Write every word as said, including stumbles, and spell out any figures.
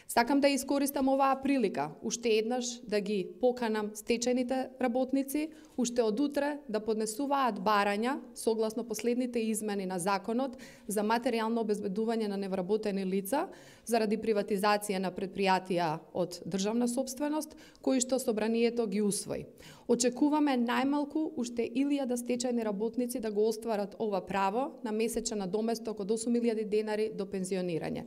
Сакам да искористам оваа прилика уште еднаш да ги поканам стечајните работници уште од утре да поднесуваат барања согласно последните измени на законот за материјално обезбедување на невработени лица заради приватизација на предпријатија од државна сопственост кои што собранието ги усвои. Очекуваме најмалку уште илјада стечајни работници да го остварат ова право на месечен надоместок од осум илјади денари до пензионирање.